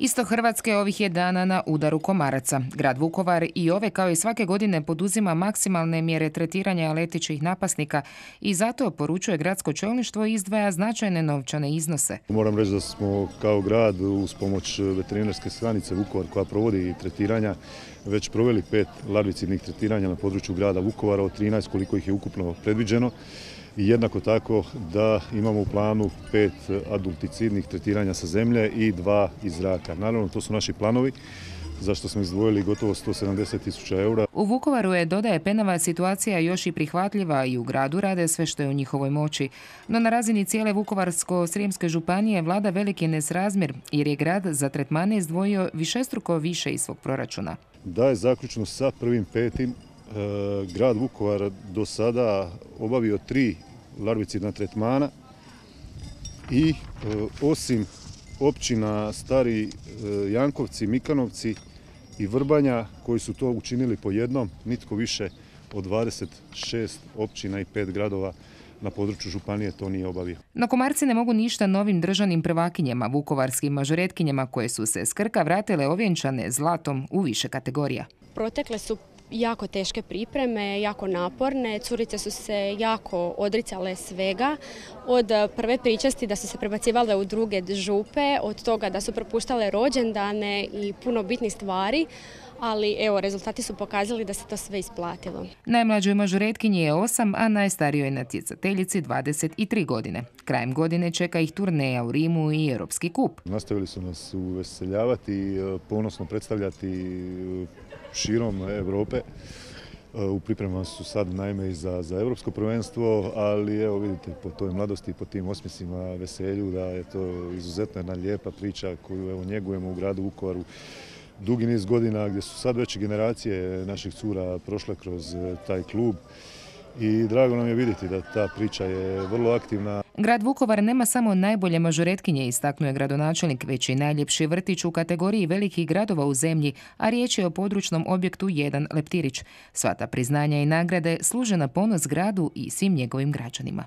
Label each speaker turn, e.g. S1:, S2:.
S1: Isto Hrvatske ovih je dana na udaru komaraca. Grad Vukovar i ove kao i svake godine poduzima maksimalne mjere tretiranja letećih napasnika i zato, poručuje gradsko čelništvo, izdvaja značajne novčane iznose.
S2: Moram reći da smo kao grad uz pomoć veterinarske stanice Vukovar koja provodi tretiranja već proveli 5 larvicidnih tretiranja na području grada Vukovara od 13 koliko ih je ukupno predviđeno. I jednako tako da imamo u planu 5 adulticidnih tretiranja sa zemlje i 2 iz zraka. Naravno, to su naši planovi, za što smo izdvojili gotovo 170.000 eura.
S1: U Vukovaru je, dodaje Penava, situacija još i prihvatljiva i u gradu rade sve što je u njihovoj moći. No na razini cijele Vukovarsko-srijemske županije vlada veliki nesrazmjer jer je grad za tretmane izdvojio višestruko više iz svog proračuna.
S2: Da je zaključno sa 1.5. grad Vukovar do sada obavio 3 larvicidna tretmana i osim općina Stari Jankovci, Mikanovci i Vrbanja koji su to učinili po jednom, nitko više od 26 općina i 5 gradova na području županije to nije obavio.
S1: No komarci ne mogu ništa novim državnim prvakinjama, vukovarskim mažoretkinjama koje su se s Krka vratile ovjenčane zlatom u više kategorija.
S3: Protekle su jako teške pripreme, jako naporne, curice su se jako odricale svega, od prve pričasti da su se prebacivale u druge župe, od toga da su propuštale rođendane i puno bitnih stvari, ali evo, rezultati su pokazali da se to sve isplatilo.
S1: Najmlađoj mažoretkinji je 8, a najstarijoj natjecateljici 23 godine. Krajem godine čeka ih turneja u Rimu i Europski kup.
S2: Nastavili su nas uveseljavati, ponosno predstavljati širom Europe. U pripremama su sad naime i za Europsko prvenstvo, ali evo vidite po toj mladosti i po tim osmjesima, veselju da je to izuzetno jedna lijepa priča koju evo njegujemo u gradu Vukovaru dugi niz godina, gdje su sad već generacije naših cura prošle kroz taj klub. I drago nam je vidjeti da ta priča je vrlo aktivna.
S1: Grad Vukovar nema samo najbolje mažoretkinje, istaknuo je gradonačelnik, već i najljepši vrtić u kategoriji velikih gradova u zemlji, a riječ je o područnom objektu 1 Leptirić. Sva ta priznanja i nagrade služe na ponos gradu i svim njegovim građanima.